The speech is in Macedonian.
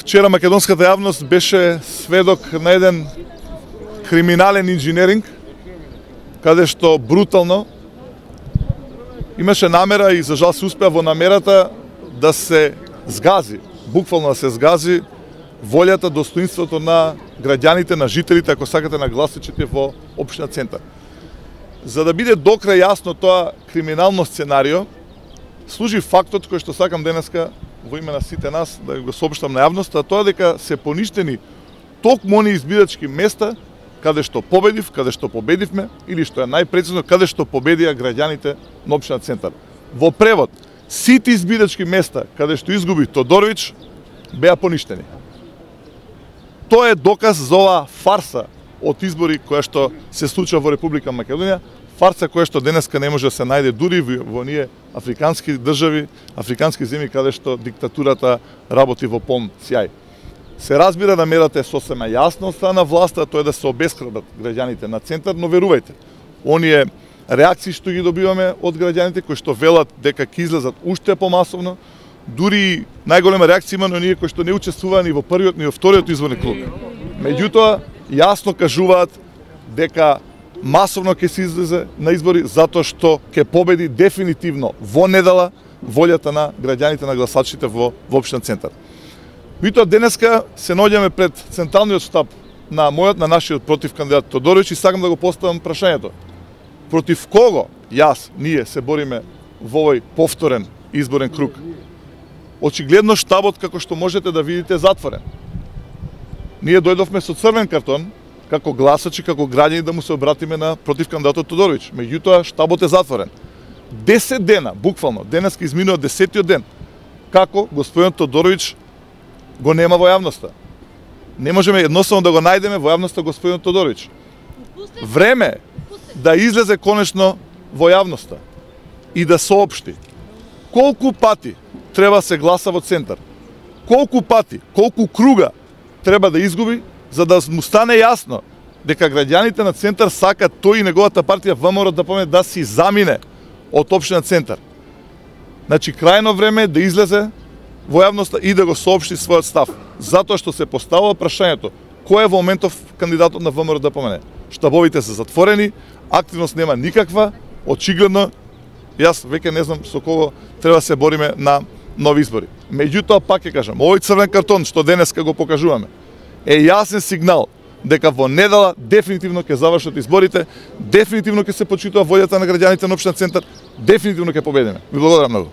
Вчера македонската јавност беше сведок на еден криминален инженеринг, каде што брутално имаше намера и за жал се успеа во намерата да се згази, буквално да се згази волјата, достоинството на граѓаните, на жителите, ако сакате, на гласачите во општина Центар. За да биде докрај јасно тоа криминално сценарио, служи фактот кој што сакам денеска во име на сите нас да го соопштам на јавноста, тоа дека се поништени токму они избирачки места каде што победив, каде што победивме, или што е најпрецизно, каде што победија граѓаните на општина Центар. Во превод, сите избирачки места каде што изгуби Тодоровиќ беа поништени. Тоа е доказ за оваа фарса од избори која што се случува во Република Македонија, фарса која што денеска не може да се најде дури во оние африкански држави, африкански земји каде што диктатурата работи во полн сјај. Се разбира намерата е сосема јасна од страна на власта, тоа е да се обесхрабрат граѓаните на Центар, но верувајте, оние реакции што ги добиваме од граѓаните кои што велат дека ќе излезат уште помасовно, дури најголема реакција има на оние кои што не учествуваа ни во првиот ни во вториот изборни круг. Меѓутоа, јасно кажуваат дека масовно ќе се излезе на избори затоа што ќе победи дефинитивно во недела волјата на граѓаните, на гласачите во општина Центар. Меѓутоа денеска се наоѓаме пред централниот штаб на нашиот против кандидат Тодоровиќ и сакам да го поставам прашањето. Против кого ние се бориме во овој повторен изборен круг? Очигледно штабот, како што можете да видите, затворен. Ние дојдовме со црвен картон, како гласачи, како граѓани да му се обратиме на против кандидатот Тодоровиќ. Меѓутоа, штабот е затворен. 10 дена, буквално, денеска изминува 10-тиот ден, како господин Тодоровиќ го нема во јавноста. Не можеме едноставно да го најдеме во јавноста господин Тодоровиќ. Време е да излезе конечно во јавноста и да соопшти колку пати треба се гласа во Центар, колку пати, колку круга треба да изгуби, за да му стане јасно дека граѓаните на Центар сакат тој и неговата партија ВМРО да помине да си замине од општина Центар. Значи, крајно време е да излезе во јавноста и да го соопшти својот став. Затоа што се поставува прашањето кој е во моментов кандидатот на ВМРО да помене. Штабовите се затворени, активност нема никаква, очигледно, јас веќе не знам со кого треба да се бориме на нови избори. Меѓутоа, пак ќе кажам, овој црвен картон што денеска го покажуваме е јасен сигнал дека во недела дефинитивно ќе завршат изборите, дефинитивно ќе се почитува волјата на граѓаните на општина Центар, дефинитивно ќе победиме. Ви благодарам многу.